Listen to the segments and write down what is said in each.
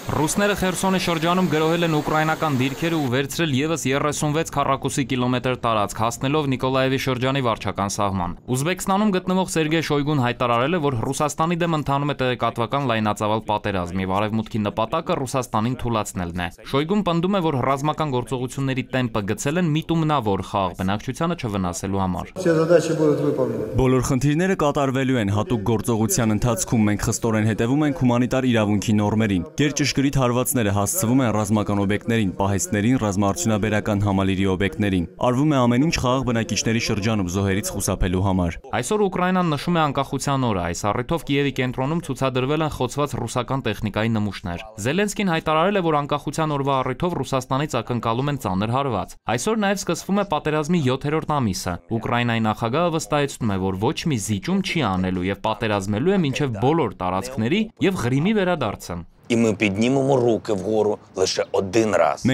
Ռուսները Խերսոնի շրջանում գրոհել են ուկրաինական դիրքերը ու վերցրել ևս 36 քառակուսի կիլոմետր տարածք, հասնելով Նիկոլաևի շրջանի վարչական սահման։ Ուզբեկստանում գտնվող Սերգեյ Շոյգուն հայտարարել է, որ Ռուսաստանի դեմ ընթանում է տեղեկատվական լայնածավալ պատերազմ եւ արևմուտքի նպատակը Ռուսաստանին թուլացնելն է։ Շոյգուն պնդում է, որ ռազմական գործողությունների տեմպը գցել են միտումնավոր խաղ բնակչությանը չվնասելու համար։ Բոլոր խնդիրները կատարվելու են հատուկ գործողության ընթացքում մենք խստորեն հետևում ենք հումանիտար իրավունքի նորմերին։ Ճշգրիտ հարվածները հասցվում են ռազմական օբյեկտներին, պահեստներին, ռազմաարդյունաբերական համալիրի օբյեկտներին։ Արվում է ամեն ինչ խաղաղ բնակիչների շրջանում զոհերից խուսափելու համար։ Այսօր Ուկրաինան նշում է անկախության օրը, այս առիթով Կիևի կենտրոնում ցուցադրվել են խոցված ռուսական տեխնիկայի նմուշներ։ Զելենսկին հայտարարել է, որ անկախության օրվա առիթով Ռուսաստանից ակնկալում են ծանր հարված։ Այսօր նաև սկսվում է պատերազմի 7-րդ ամիսը։ Ուկրաինայի նախագահը վստահեցնում է, որ ոչ մի զիջում չի անելու եւ պատերազմելու է մինչեւ բոլոր տարածքների եւ Ղրիմի վերադարձը։ Մենք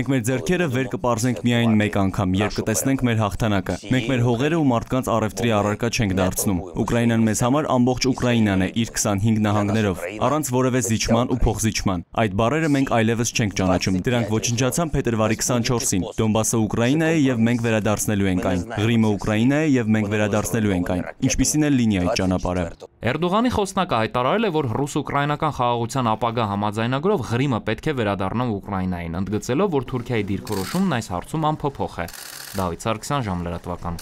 մեր ձեռքերը վեր կպարզենք միայն մեկ անգամ, երբ կտեսնենք մեր հաղթանակը։ Մենք մեր հողերը ու մարդկանց առևտրի առարկա չենք դարձնում։ Ուկրաինան մեզ համար ամբողջ Ուկրաինան է իր 25 նահանգներով, առանց որևէ զիջման ու փոխզիջման։ Այդ բառերը մենք այլևս չենք ճանաչում։ Դրանք ոչնչացան փետրվարի 24-ին։ Դոնբասը Ուկրաինա է եւ մենք վերադարձնելու ենք այն։ Ղրիմը Ուկրաինա է եւ մենք վերադարձնելու ենք այն։ Ինչպիսին է լինի այդ ճանապարհը։ Էրդողանի խոսնակը հայտարարել է, որ ռուս-ուկրաինական խաղաղության ապագա համաձայնագրով Ղրիմը պետք է վերադառնա Ուկրաինային, ընդգծելով, որ Թուրքիայի դիրքորոշումն այս հարցում անփոփոխ է։ Դավիթ Սարգսյան, Ժամլրատվական։